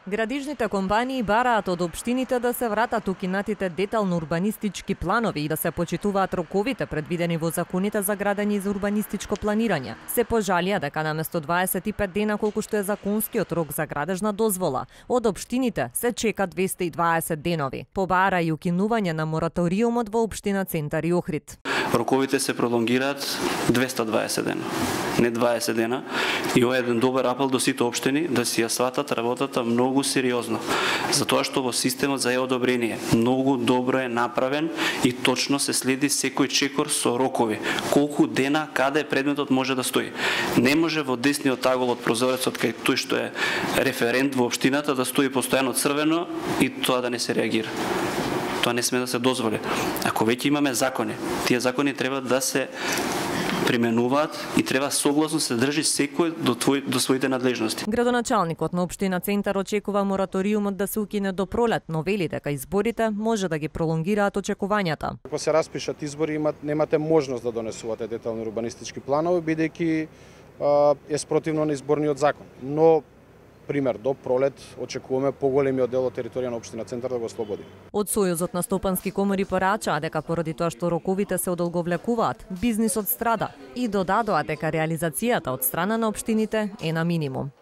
Градижните компании бараат од општините да се вратат укинатите детално урбанистички планови и да се почитуваат роковите предвидени во законите за градење и за урбанистичко планирање. Се пожалија дека наместо 25 дена колку што е законскиот рок за градежна дозвола, од општините се чека 220 денови. Побара и укинување на мораториумот во општина Центар и Охрид. Роковите се пролонгираат 220 дена, не 20 дена. И ова е еден добар апел до сите општини да си ја сватат работата многу сериозно. Затоа што во системот за одобрение многу добро е направен и точно се следи секој чекор со рокови. Колку дена, каде предметот може да стои. Не може во десниот агол од прозорецот кај тој што е референт во општината да стои постојано црвено и тоа да не се реагира. Тоа не сме да се дозволи. Ако веќе имаме закони, тие закони треба да се применуваат и треба согласно се држи секој до своите надлежности. Градоначалникот на општина Центар очекува мораториумот да се укине до пролет, но вели дека изборите може да ги пролонгираат очекувањата. Ако се распишат избори, немате можност да донесувате детални урбанистички планови, бидејќи е спротивно на изборниот закон. Но пример, до пролет очекуваме поголемиот дел од територија на општина Центар да го ослободи. Од Сојузот на стопански комори порачаа дека поради тоа што роковите се одолговлекуваат, бизнисот страда и додадоа дека реализацијата од страна на општините е на минимум.